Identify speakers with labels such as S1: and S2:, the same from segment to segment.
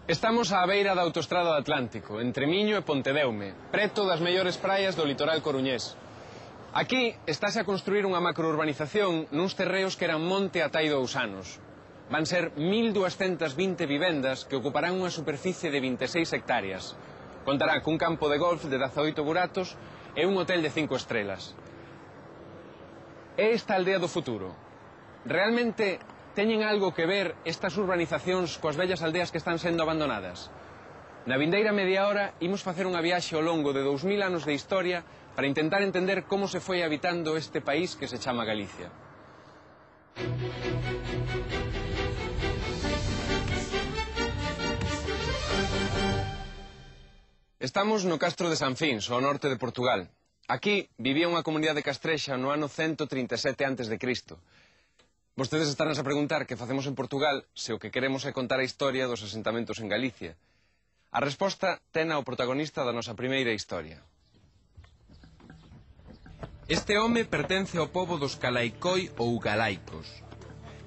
S1: Estamos á beira da autoestrada do Atlántico, entre Miño e Pontedeume, preto das mellores praias do litoral coruñés. Aquí estáse a construir unha macrourbanización nuns terreos que eran monte atai 2 anos. Van ser 1.220 vivendas que ocuparán unha superficie de 26 hectáreas. Contará cun campo de golf de 18 buratos e un hotel de 5 estrelas. É esta aldea do futuro. Realmente teñen algo que ver estas urbanizacións coas vellas aldeas que están sendo abandonadas? Na vindeira media hora imos facer unha viaxe ao longo de 2000 anos de historia para intentar entender como se foi habitando este país que se chama Galicia. Estamos no Castro de San Fins, ao norte de Portugal. Aquí vivía unha comunidade castrexa no ano 137 a.C. Vostedes estarán a preguntar que facemos en Portugal se o que queremos é contar a historia dos asentamentos en Galicia. A resposta tena o protagonista da nosa primeira historia. Este home pertence ao pobo dos Calaicoi ou Galaicos.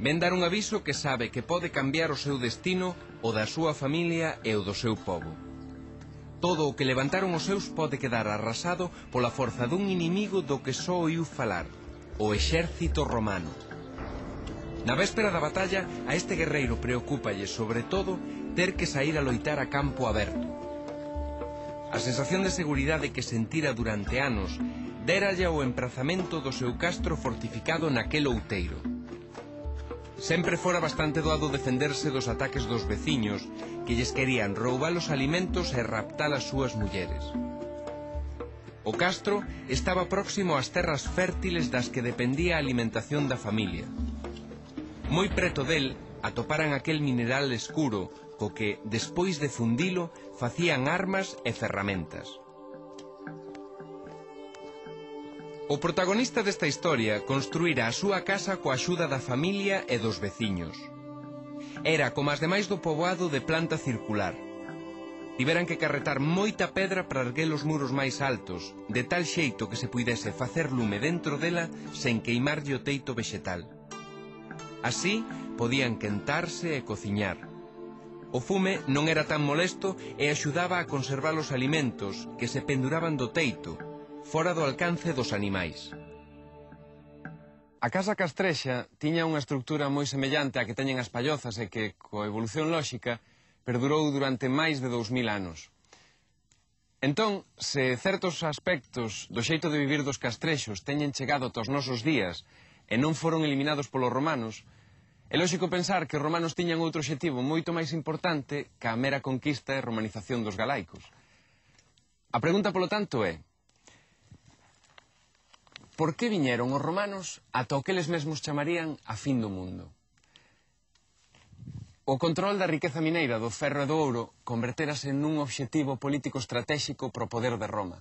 S1: Ven dar un aviso que sabe que pode cambiar o seu destino, o da súa familia e o do seu pobo. Todo o que levantaron os seus pode quedar arrasado pola forza dun inimigo do que só oíu falar, o exército romano. Na véspera da batalla, a este guerreiro preocúpalle, sobre todo, ter que sair a loitar a campo aberto. A sensación de seguridade que sentira durante anos déralle o emprazamento do seu castro fortificado naquel outeiro. Sempre fora bastante doado defenderse dos ataques dos veciños que lles querían roubar os alimentos e raptar as súas mulleres. O castro estaba próximo ás terras fértiles das que dependía a alimentación da familia. Moi preto del atoparan aquel mineral escuro co que, despois de fundilo, facían armas e ferramentas. O protagonista desta historia construíra a súa casa coa axuda da familia e dos veciños. Era como as demais do poboado de planta circular. Tiveran que carretar moita pedra para erguer os muros máis altos, de tal xeito que se puidese facer lume dentro dela sen queimarlle o teito vexetal. Así podían quentarse e cociñar. O fume non era tan molesto e axudaba a conservar os alimentos que se penduraban do teito, fora do alcance dos animais. A casa castrexa tiña unha estructura moi semellante á que teñen as pallozas e que, coa evolución lóxica, perdurou durante máis de 2000 anos. Entón, se certos aspectos do xeito de vivir dos castrexos teñen chegado ata os nosos días e non foron eliminados polos romanos, é lóxico pensar que os romanos tiñan outro obxectivo moito máis importante que a mera conquista e romanización dos galaicos. A pregunta, polo tanto, é: por que viñeron os romanos ata o que eles mesmos chamarían a fin do mundo? O control da riqueza mineira do ferro e do ouro converterase nun obxectivo político estratéxico pro poder de Roma.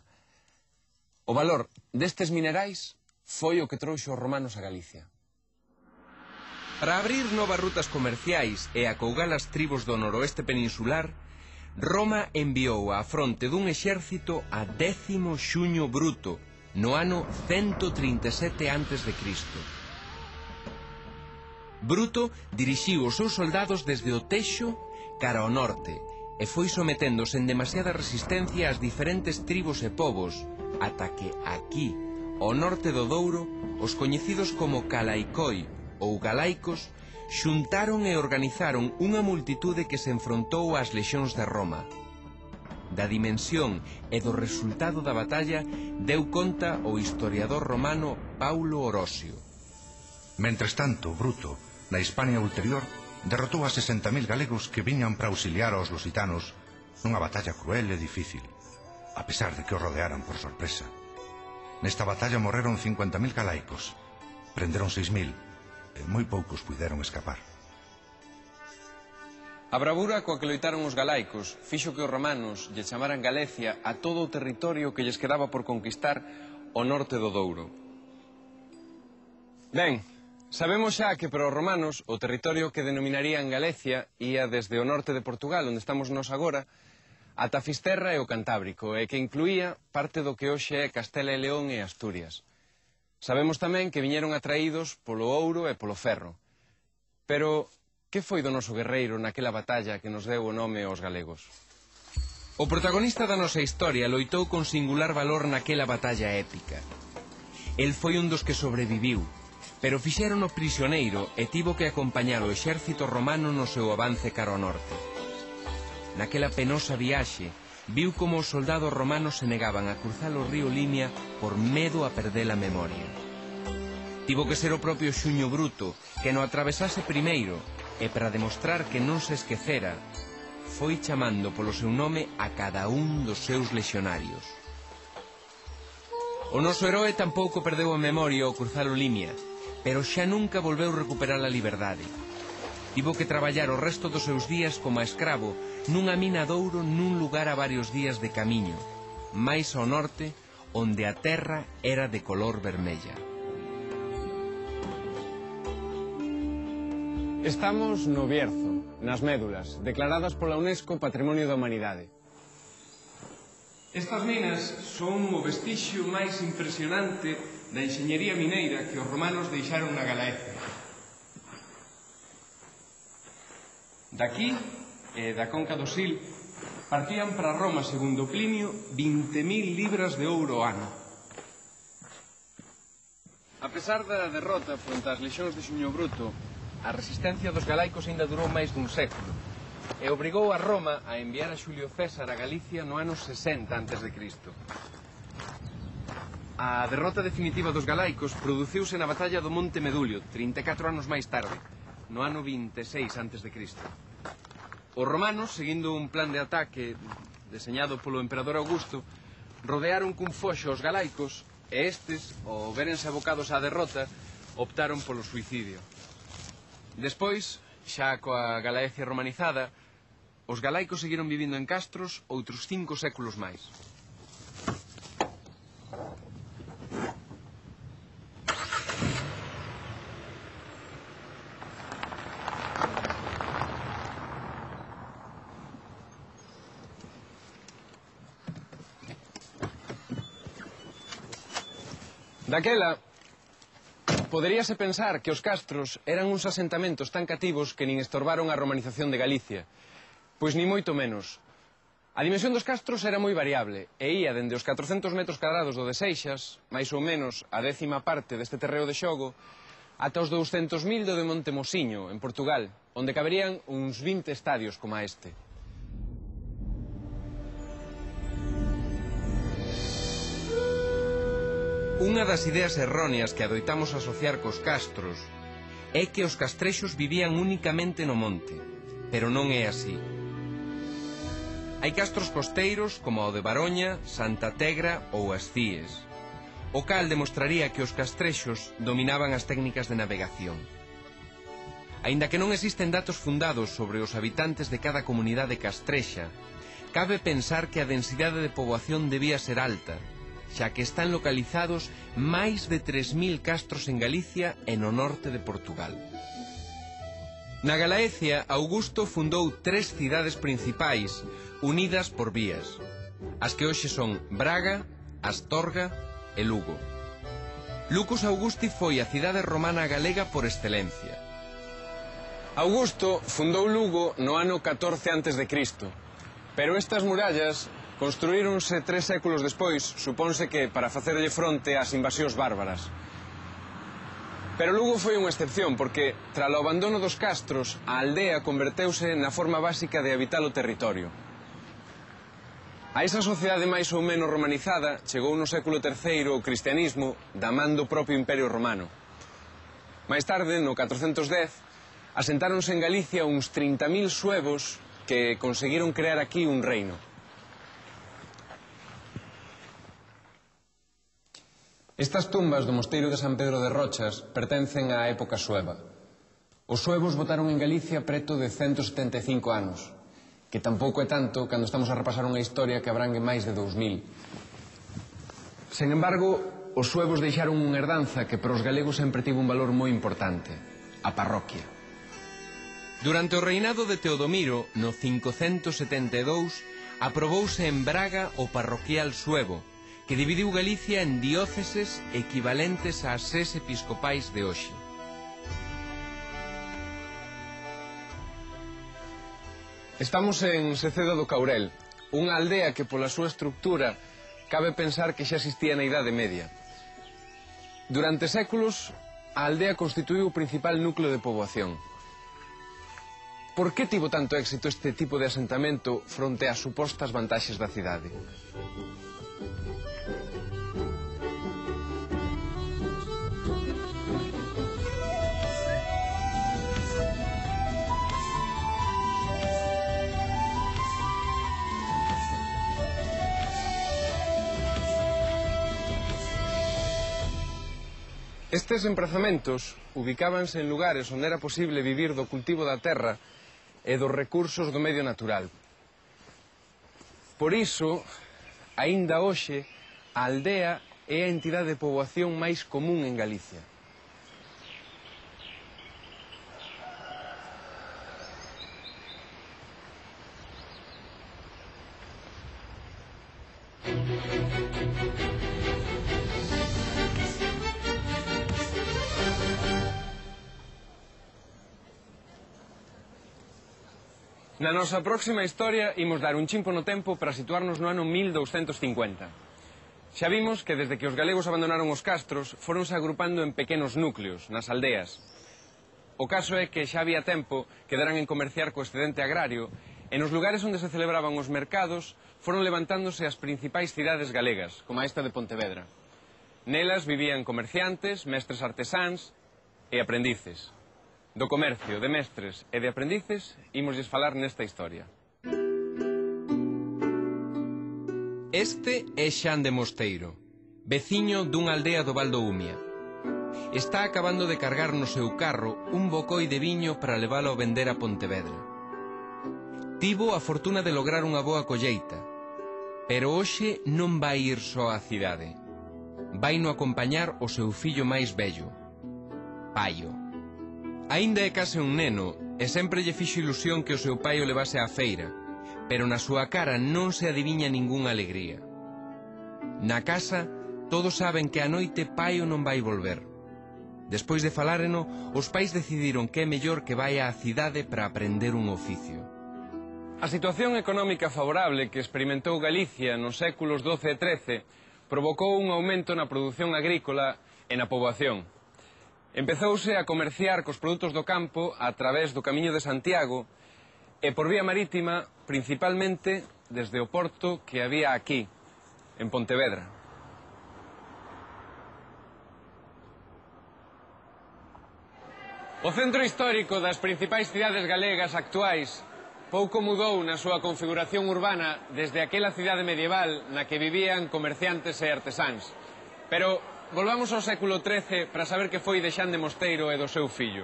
S1: O valor destes minerais foi o que trouxo os romanos a Galicia. Para abrir novas rutas comerciais e acougar as tribos do noroeste peninsular, Roma enviou á fronte dun exército a 10º Xuño Bruto, no ano 137 a.C. Bruto dirixiu os seus soldados desde o Texo cara ao norte e foi sometendo sen demasiada resistencia ás diferentes tribos e povos, ata que aquí, ao norte do Douro, os coñecidos como Calaicoi ou Galaicos xuntaron e organizaron unha multitude que se enfrontou ás lexións de Roma. Da dimensión e do resultado da batalla deu conta o historiador romano Paulo Orosio.
S2: Mentres tanto, Bruto, na Hispania ulterior, derrotou a 60.000 galegos que viñan para auxiliar aos lusitanos nunha batalla cruel e difícil, a pesar de que os rodearan por sorpresa. Nesta batalla morreron 50.000 galaicos, prenderon 6.000, e moi poucos puideron escapar.
S1: A bravura coa que loitaron os galaicos fixo que os romanos lle chamaran Galicia a todo o territorio que lles quedaba por conquistar ao norte do Douro. Ben, sabemos xa que para os romanos o territorio que denominarían Galicia ía desde o norte de Portugal, onde estamos nós agora, ata Fisterra e o Cantábrico, e que incluía parte do que hoxe é Castela e León e Asturias. Sabemos tamén que viñeron atraídos polo ouro e polo ferro. Pero Que foi do noso guerreiro naquela batalla que nos deu o nome aos galegos? O protagonista da nosa historia loitou con singular valor naquela batalla épica. El foi un dos que sobreviviu, pero fixérono prisioneiro e tivo que acompañar o exército romano no seu avance cara ao norte. Naquela penosa viaxe, viu como os soldados romanos se negaban a cruzar o río Limia por medo a perder a memoria. Tivo que ser o propio Xuño Bruto que no atravesase primeiro e para demostrar que non se esquecera, foi chamando polo seu nome a cada un dos seus lexionarios. O noso heroe tampouco perdeu a memoria ao cruzar o Limia, pero xa nunca volveu recuperar a liberdade. Tivo que traballar o resto dos seus días como a escravo nunha mina de ouro nun lugar a varios días de camiño, máis ao norte, onde a terra era de color vermella. Estamos no Bierzo, nas Médulas, declaradas pola UNESCO Patrimonio da Humanidade. Estas minas son o vestixio máis impresionante da enxeñería mineira que os romanos deixaron na Galaecia. Daqui, e da conca do Sil, partían para Roma, segundo Plinio, 20.000 libras de ouro ao ano. A pesar da derrota fronte ás lexións de Xuño Bruto, a resistencia dos galaicos aínda durou máis dun século e obrigou a Roma a enviar a Xulio César a Galicia no ano 60 a.C. A derrota definitiva dos galaicos produciuse na batalla do Monte Medulio, 34 anos máis tarde, no ano 26 a.C. Os romanos, seguindo un plan de ataque deseñado polo emperador Augusto, rodearon cun foxo os galaicos e estes, ao verense abocados á derrota, optaron polo suicidio. Despois, xa coa Galaecia romanizada, os galaicos seguiron vivindo en castros outros 5 séculos máis. Daquela, poderíase pensar que os castros eran uns asentamentos tan cativos que nin estorbaron a romanización de Galicia. Pois ni moito menos. A dimensión dos castros era moi variable e ía dende os 400 metros cadrados do de Seixas, máis ou menos a 10ª parte deste terreo de xogo, ata os 200.000 do de Montemosiño, en Portugal, onde caberían uns 20 estadios como este. Unha das ideas erróneas que adoitamos asociar cos castros é que os castrexos vivían únicamente no monte, pero non é así. Hai castros costeiros como o de Baroña, Santa Tegra ou as Cíes, o cal demostraría que os castrexos dominaban as técnicas de navegación. Aínda que non existen datos fundados sobre os habitantes de cada comunidade castrexa, cabe pensar que a densidade de poboación debía ser alta, xa que están localizados máis de 3.000 castros en Galicia e no norte de Portugal. Na Galaecia, Augusto fundou 3 cidades principais unidas por vías, as que hoxe son Braga, Astorga e Lugo. Lucus Augusti foi a cidade romana galega por excelencia. Augusto fundou Lugo no ano 14 a.C., pero estas murallas construíronse 3 séculos despois, supónse que para facerlle fronte ás invasións bárbaras. Pero Lugo foi unha excepción, porque, tralo abandono dos castros, a aldea converteuse na forma básica de habitar o territorio. A esa sociedade máis ou menos romanizada chegou no século III o cristianismo da man do propio Imperio Romano. Máis tarde, no 410, asentáronse en Galicia uns 30.000 suevos que conseguiron crear aquí un reino. Estas tumbas do mosteiro de San Pedro de Rochas pertencen á época sueva. Os suevos votaron en Galicia preto de 175 anos, que tampouco é tanto cando estamos a repasar unha historia que abrangue máis de 2000. Sen embargo, os suevos deixaron unha herdanza que para os galegos sempre tivo un valor moi importante, a parroquia. Durante o reinado de Teodomiro, no 572, aprobouse en Braga o parroquial suevo, que dividiu Galicia en dióceses equivalentes ás 6 episcopais de hoxe. Estamos en Secedo do Caurel, unha aldea que pola súa estructura cabe pensar que xa existía na Idade Media. Durante séculos, a aldea constituíu o principal núcleo de poboación. Por que tivo tanto éxito este tipo de asentamento fronte ás supostas vantaxes da cidade? Estes emprazamentos ubicábanse en lugares onde era posible vivir do cultivo da terra e dos recursos do medio natural. Por iso, aínda hoxe, a aldea é a entidade de poboación máis común en Galicia. Na nosa próxima historia imos dar un chimpo no tempo para situarnos no ano 1250. Xa vimos que desde que os galegos abandonaron os castros foronse agrupando en pequenos núcleos, nas aldeas. O caso é que xa había tempo que deran en comerciar co excedente agrario e nos lugares onde se celebraban os mercados foron levantándose as principais cidades galegas, como esta de Pontevedra. Nelas vivían comerciantes, mestres artesáns e aprendices. Do comercio, de mestres e de aprendices, ímoslles falar nesta historia. Este é Xan de Mosteiro, veciño dunha aldea do Val do Umia. Está acabando de cargar no seu carro un bocoi de viño para leválo a vender a Pontevedra. Tivo a fortuna de lograr unha boa colleita, pero hoxe non vai ir só á cidade. Vai no acompañar o seu fillo máis vello, Paio. Aínda é case un neno e sempre lle fixo ilusión que o seu pai o levase á feira, pero na súa cara non se adiviña ningunha alegría. Na casa, todos saben que a noite Paio non vai volver. Despois de faláreno, os pais decidiron que é mellor que vaia á cidade para aprender un oficio. A situación económica favorable que experimentou Galicia nos séculos XII e XIII provocou un aumento na produción agrícola e na poboación. Empezouse a comerciar cos produtos do campo a través do Camiño de Santiago e por vía marítima, principalmente desde o porto que había aquí, en Pontevedra. O centro histórico das principais cidades galegas actuais pouco mudou na súa configuración urbana desde aquela cidade medieval na que vivían comerciantes e artesáns. Pero volvamos ao século XIII para saber que foi de Xan de Mosteiro e do seu fillo.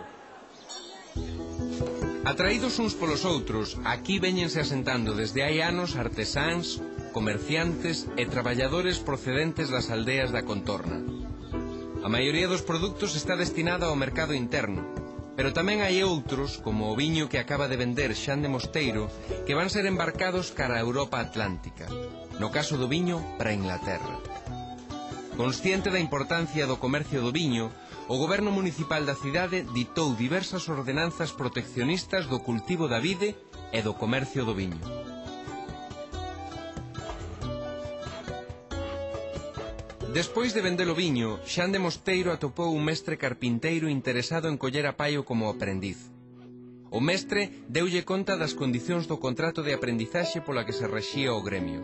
S1: Atraídos uns polos outros, aquí véñense asentando desde hai anos artesáns, comerciantes e traballadores procedentes das aldeas da contorna. A maioría dos produtos está destinada ao mercado interno, pero tamén hai outros, como o viño que acaba de vender Xan de Mosteiro, que van ser embarcados cara a Europa Atlántica, no caso do viño para Inglaterra. Consciente da importancia do comercio do viño, o goberno municipal da cidade ditou diversas ordenanzas proteccionistas do cultivo da vide e do comercio do viño. Despois de vender o viño, Xan de Mosteiro atopou un mestre carpinteiro interesado en coller a Paio como aprendiz. O mestre deulle conta das condicións do contrato de aprendizaxe pola que se rexía o gremio.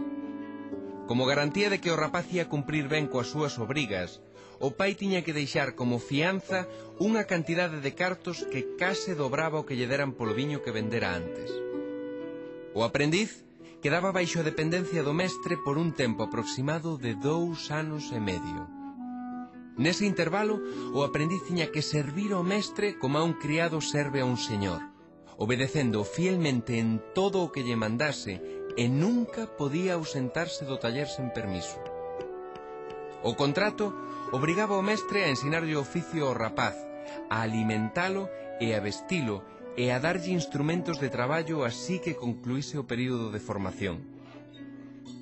S1: Como garantía de que o rapaz ia cumprir ben coas súas obrigas, o pai tiña que deixar como fianza unha cantidade de cartos que case dobraba o que lle deran polo viño que vendera antes. O aprendiz quedaba baixo a dependencia do mestre por un tempo aproximado de 2 anos e medio. Nese intervalo, o aprendiz tiña que servir ao mestre como a un criado serve a un señor, obedecendo fielmente en todo o que lle mandase e nunca podía ausentarse do taller sen permiso. O contrato obrigaba o mestre a ensinarlle o oficio ao rapaz, a alimentalo e a vestilo e a darlle instrumentos de traballo así que concluíse o período de formación.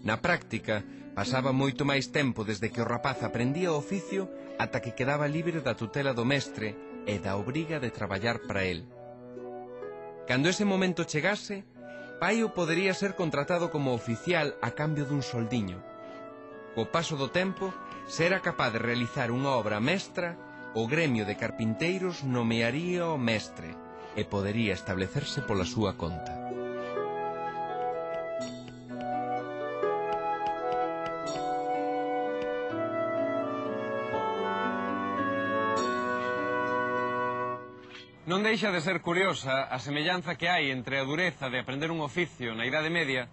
S1: Na práctica, pasaba moito máis tempo desde que o rapaz aprendía o oficio ata que quedaba libre da tutela do mestre e da obriga de traballar para el. Cando ese momento chegase, Paio podería ser contratado como oficial a cambio dun soldiño. Co paso do tempo, se era capaz de realizar unha obra mestra, o gremio de carpinteiros nomearía o mestre e podería establecerse pola súa conta.
S3: Non deixa de ser curiosa a semellanza que hai entre a dureza de aprender un oficio na Idade Media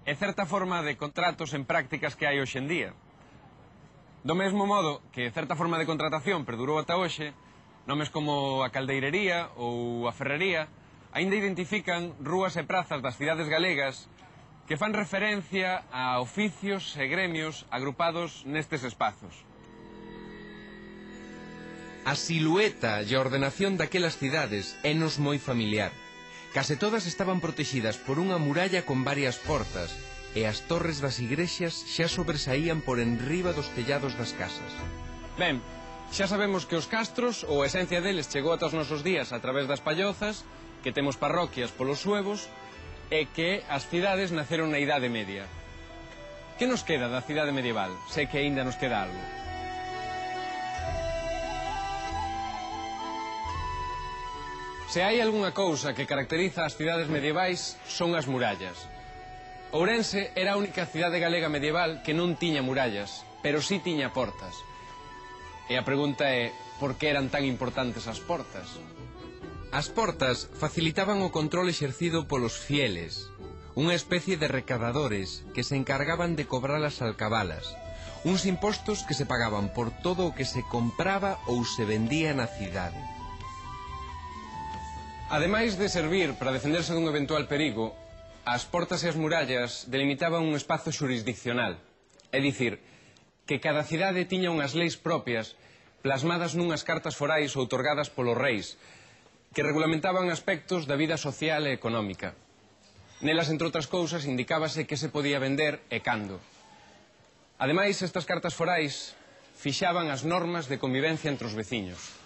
S3: e certa forma de contratos en prácticas que hai hoxe en día. Do mesmo modo que certa forma de contratación perdurou ata hoxe, nomes como a caldeirería ou a ferrería aínda identifican rúas e prazas das cidades galegas que fan referencia a oficios e gremios agrupados nestes espazos.
S1: A silueta e a ordenación daquelas cidades énos moi familiar. Case todas estaban protegidas por unha muralla con varias portas e as torres das igrexas xa sobresaían por enriba dos tellados das casas.
S3: Ben, xa sabemos que os castros, ou a esencia deles, chegou ata os nosos días a través das pallozas, que temos parroquias polos suevos, e que as cidades naceron na Idade Media. Que nos queda da cidade medieval? Sei que aínda nos queda algo. Se hai algunha cousa que caracteriza as cidades medievais, son as murallas. Ourense era a única cidade galega medieval que non tiña murallas, pero sí tiña portas. E a pregunta é, por que eran tan importantes as portas?
S1: As portas facilitaban o control exercido polos fieles, unha especie de recadadores que se encargaban de cobrar as alcabalas, uns impostos que se pagaban por todo o que se compraba ou se vendía na cidade.
S3: Ademais de servir para defenderse dun eventual perigo, as portas e as murallas delimitaban un espazo xurisdiccional, é dicir, que cada cidade tiña unhas leis propias plasmadas nunhas cartas forais outorgadas polos reis, que regulamentaban aspectos da vida social e económica. Nelas, entre outras cousas, indicábase que se podía vender e cando. Ademais, estas cartas forais fixaban as normas de convivencia entre os veciños.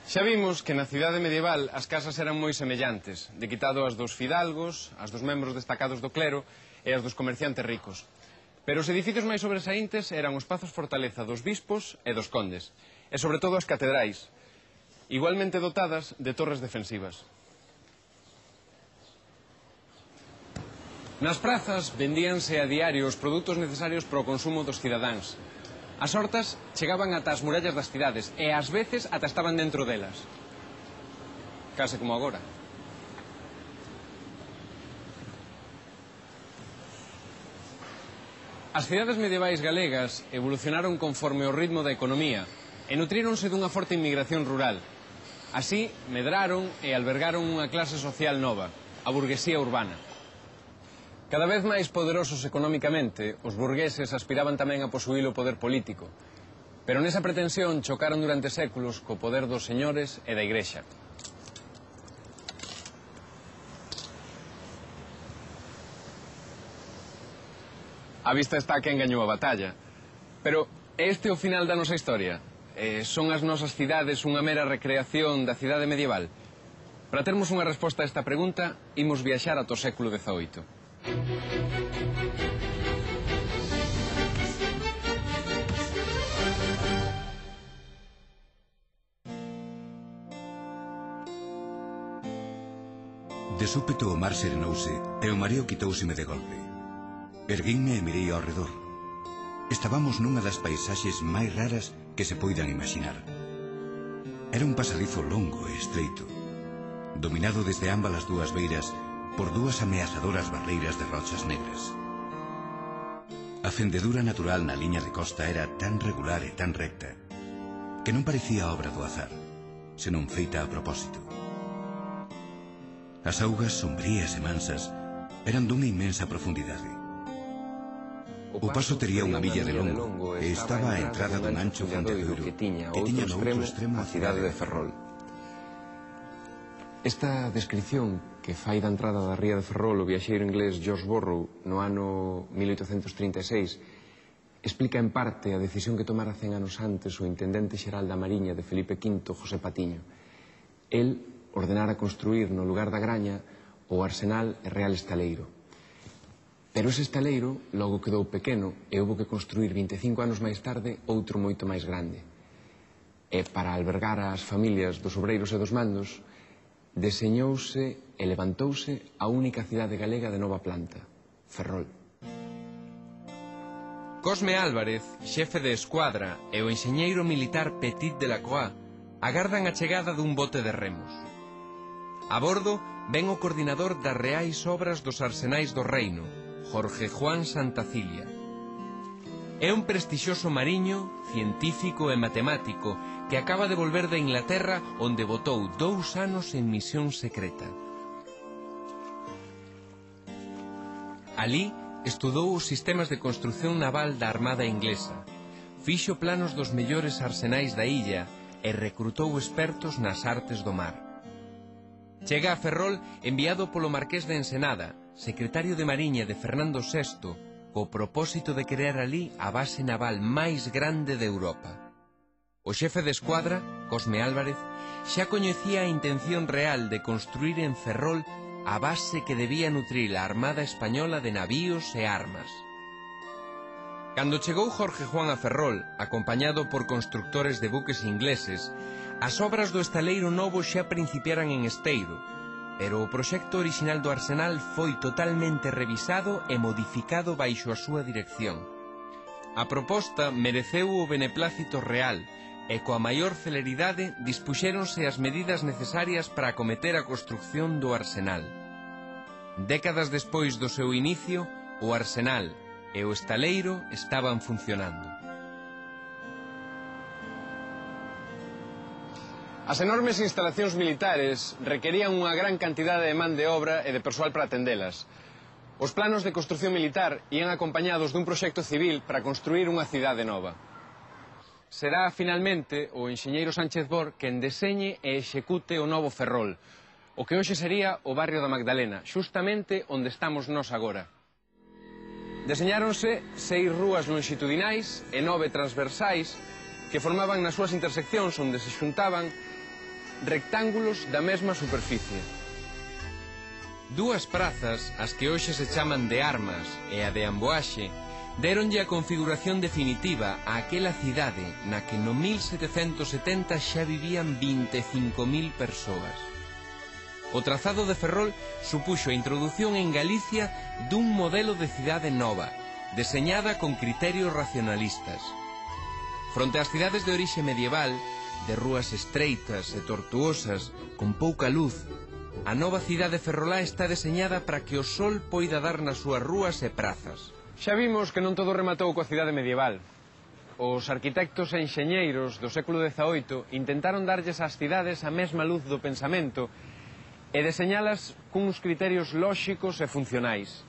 S3: Xa vimos que na cidade medieval as casas eran moi semellantes, de quitado as dos fidalgos, as dos membros destacados do clero e as dos comerciantes ricos. Pero os edificios máis sobresaíntes eran os pazos fortaleza dos bispos e dos condes, e sobre todo as catedrais, igualmente dotadas de torres defensivas. Nas prazas vendíanse a diario os produtos necesarios para o consumo dos cidadáns. As hortas chegaban ata as murallas das cidades e ás veces ata estaban dentro delas. Case como agora. As cidades medievais galegas evolucionaron conforme o ritmo da economía e nutríronse dunha forte inmigración rural. Así, medraron e albergaron unha clase social nova, a burguesía urbana. Cada vez máis poderosos económicamente, os burgueses aspiraban tamén a posuír o poder político, pero nesa pretensión chocaron durante séculos co poder dos señores e da Igrexa. A vista está quen gañou a batalla, pero este é o final da nosa historia. Son as nosas cidades unha mera recreación da cidade medieval? Para termos unha resposta a esta pregunta, imos viaxar ata o século XVIII.
S4: De súpeto o mar serenouse e o mareo quitóuseme de golpe. Erguínme e mirei ao redor. Estábamos nunha das paisaxes máis raras que se poidan imaginar. Era un pasadizo longo e estreito, dominado desde ambas as dúas beiras por dúas ameazadoras barreiras de rochas negras. A fendedura natural na liña de costa era tan regular e tan recta que non parecía obra do azar, senón feita a propósito. As augas sombrías e mansas eran dunha inmensa profundidade. O paso tería unha milla de longo e estaba á entrada dun ancho fondedoiro que tiña no outro extremo a cidade de Ferrol.
S3: Esta descripción que fai da entrada da ría de Ferrol o viaxeiro inglés George Borrow no ano 1836 explica en parte a decisión que tomara 100 anos antes o intendente xeral da Mariña de Felipe V, José Patiño. El ordenara construir no lugar da Graña o Arsenal e Real Estaleiro. Pero ese estaleiro logo quedou pequeno e houve que construir 25 anos máis tarde outro moito máis grande. E para albergar as familias dos obreiros e dos mandos, deseñouse e levantouse a única cidade galega de nova planta, Ferrol.
S1: Cosme Álvarez, xefe de escuadra, e o enxeñeiro militar Petit de la Croix agardan a chegada dun bote de remos. A bordo ven o coordinador das reais obras dos arsenais do reino, Jorge Juan Santacilia. É un prestixioso mariño, científico e matemático que acaba de volver de Inglaterra, onde botou 2 anos en misión secreta. Alí estudou os sistemas de construción naval da Armada Inglesa, fixo planos dos mellores arsenais da illa e recrutou expertos nas artes do mar. Chega a Ferrol enviado polo Marqués de Ensenada, secretario de Mariña de Fernando VI, co propósito de crear ali a base naval máis grande de Europa. O xefe de escuadra, Cosme Álvarez, xa coñecía a intención real de construir en Ferrol a base que debía nutrir a Armada Española de navíos e armas. Cando chegou Jorge Juan a Ferrol, acompañado por constructores de buques ingleses, as obras do estaleiro novo xa principiaran en Esteiro, pero o proxecto orixinal do arsenal foi totalmente revisado e modificado baixo a súa dirección. A proposta mereceu o beneplácito real e coa maior celeridade dispuxéronse as medidas necesarias para acometer a construcción do arsenal. Décadas despois do seu inicio, o arsenal e o estaleiro estaban funcionando.
S3: As enormes instalacións militares requerían unha gran cantidade de man de obra e de persoal para atendelas. Os planos de construción militar ían acompañados dun proxecto civil para construir unha cidade nova. Será, finalmente, o enxeñeiro Sánchez Bor quen deseñe e execute o novo Ferrol, o que hoxe sería o barrio da Magdalena, xustamente onde estamos nós agora. Deseñáronse 6 rúas longitudinais e 9 transversais que formaban nas súas interseccións onde se xuntaban rectángulos da mesma superficie.
S1: 2 prazas, as que hoxe se chaman de Armas e a de Amboaxe, déronlle a configuración definitiva a aquela cidade na que no 1770 xa vivían 25.000 persoas. O trazado de Ferrol supuxo a introdución en Galicia dun modelo de cidade nova, deseñada con criterios racionalistas. Fronte ás cidades de orixe medieval, de rúas estreitas e tortuosas, con pouca luz, a nova cidade ferrolá está deseñada para que o sol poida dar nas súas rúas e prazas.
S3: Xa vimos que non todo rematou coa cidade medieval. Os arquitectos e enxeñeiros do século XVIII intentaron darlles ás cidades a mesma luz do pensamento e deseñalas cuns criterios lóxicos e funcionais.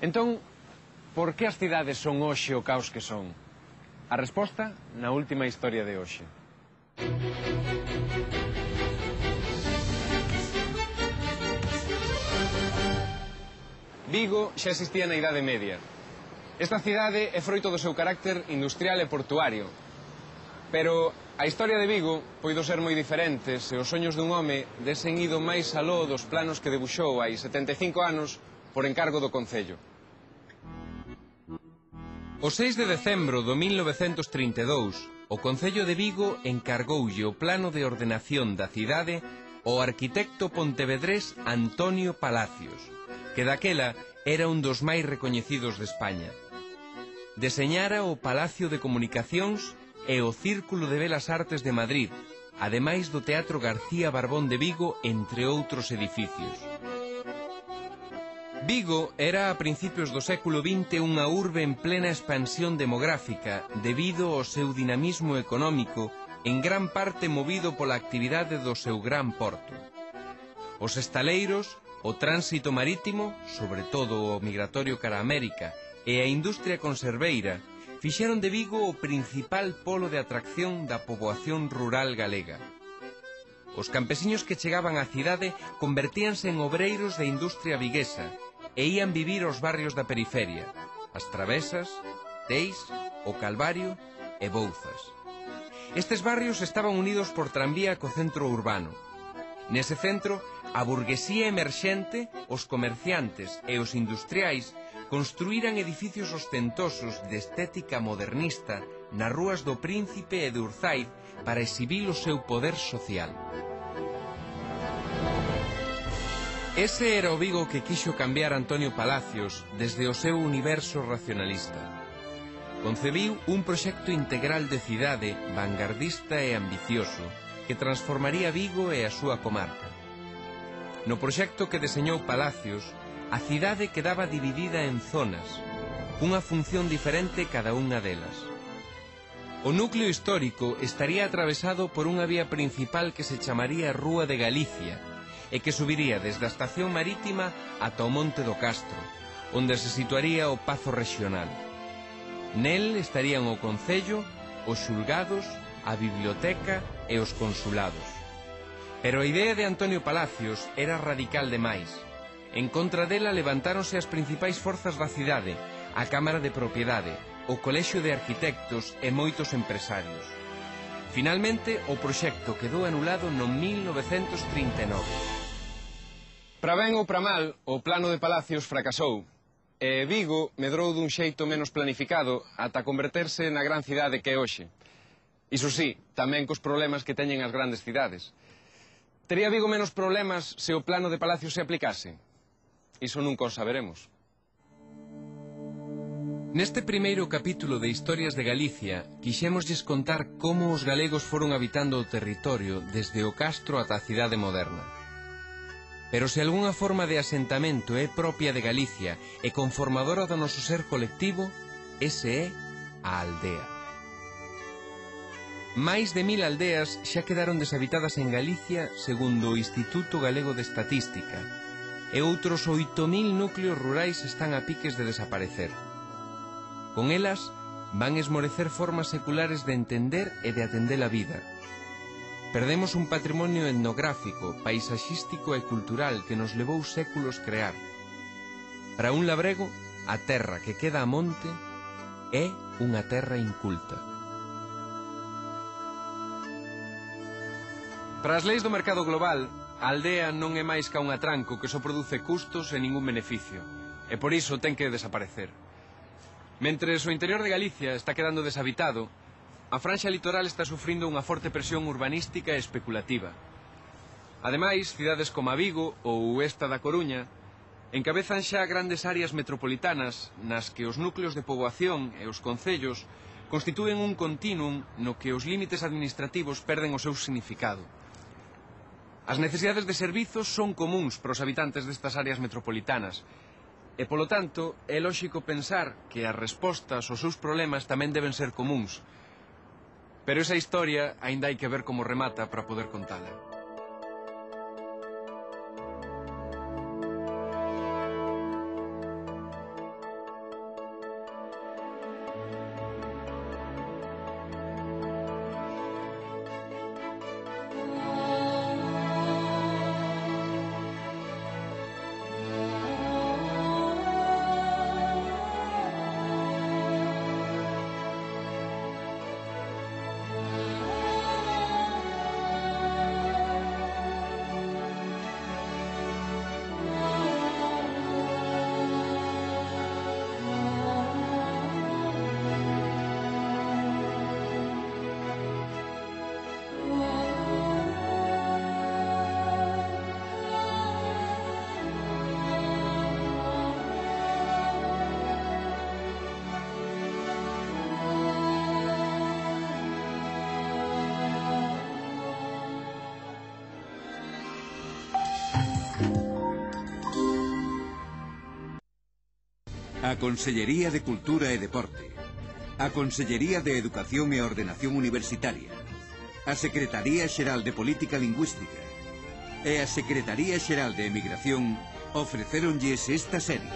S3: Entón, por que as cidades son hoxe o caos que son? A resposta na última historia de hoxe. Vigo xa existía na Idade Media. Esta cidade é froito do seu carácter industrial e portuario. Pero a historia de Vigo poido ser moi diferente se os soños dun home desen ido máis aló dos planos que debuxou hai 75 anos por encargo do Concello.
S1: O 6 de decembro do 1932, o Concello de Vigo encargoulle o plano de ordenación da cidade ao arquitecto pontevedrés Antonio Palacios, que daquela era un dos máis recoñecidos de España. Deseñara o Palacio de Comunicacións e o Círculo de Belas Artes de Madrid, ademais do Teatro García Barbón de Vigo, entre outros edificios. Vigo era a principios do século XX unha urbe en plena expansión demográfica debido ao seu dinamismo económico, en gran parte movido pola actividade do seu gran porto. Os estaleiros, o tránsito marítimo, sobre todo o migratorio cara a América, e a industria conserveira, fixeron de Vigo o principal polo de atracción da poboación rural galega. Os campesiños que chegaban á cidade convertíanse en obreiros de industria viguesa e ían vivir aos barrios da periferia, as Travesas, Teis, o Calvario e Bouzas. Estes barrios estaban unidos por tranvía co centro urbano. Nese centro a burguesía emerxente, os comerciantes e os industriais construíran edificios ostentosos de estética modernista nas rúas do Príncipe e de Urzaiz para exhibir o seu poder social. Ese era o Vigo que quixo cambiar Antonio Palacios desde o seu universo racionalista. Concebiu un proxecto integral de cidade vanguardista e ambicioso que transformaría Vigo e a súa comarca. No proxecto que deseñou Palacios, a cidade quedaba dividida en zonas, cunha función diferente cada unha delas. O núcleo histórico estaría atravesado por unha vía principal que se chamaría Rúa de Galicia e que subiría desde a estación marítima ata o Monte do Castro, onde se situaría o Pazo Rexional. Nel estarían o Concello, os xulgados, a biblioteca e os consulados. Pero a idea de Antonio Palacios era radical demais. En contra dela levantáronse as principais forzas da cidade, a Cámara de Propiedade, o Colexio de Arquitectos e moitos empresarios. Finalmente, o proxecto quedou anulado no 1939.
S3: Para ben ou para mal, o plano de Palacios fracasou, e Vigo medrou dun xeito menos planificado ata converterse na gran cidade que é hoxe. Iso sí, tamén cos problemas que teñen as grandes cidades. Tería Vigo menos problemas se o plano de Palacios se aplicase? Iso nunca o saberemos.
S1: Neste primeiro capítulo de Historias de Galicia, quixémoslles contar como os galegos foron habitando o territorio desde o castro ata a cidade moderna. Pero se algunha forma de asentamento é propia de Galicia e conformadora do noso ser colectivo, ese é a aldea. Máis de 1000 aldeas xa quedaron deshabitadas en Galicia segundo o Instituto Galego de Estatística, e outros 8000 núcleos rurais están a piques de desaparecer. Con elas van esmorecer formas seculares de entender e de atender a vida. Perdemos un patrimonio etnográfico, paisaxístico e cultural que nos levou séculos crear. Para un labrego, a terra que queda a monte é unha terra inculta.
S3: Para as leis do mercado global, a aldea non é máis ca un atranco que só produce custos e ningún beneficio, e por iso ten que desaparecer. Mentres o interior de Galicia está quedando deshabitado, a franxa litoral está sufrindo unha forte presión urbanística e especulativa. Ademais, cidades como a Vigo ou esta da Coruña encabezan xa grandes áreas metropolitanas nas que os núcleos de poboación e os concellos constitúen un continuum no que os límites administrativos perden o seu significado. As necesidades de servizos son comuns para os habitantes destas áreas metropolitanas e, polo tanto, é lóxico pensar que as respostas aos seus problemas tamén deben ser comuns. Pero esa historia aínda hai que ver como remata para poder contala.
S4: A Consellería de Cultura e Deporte, a Consellería de Educación e Ordenación Universitaria, a Secretaría Xeral de Política Lingüística e a Secretaría Xeral de Emigración ofrecéronlles esta serie.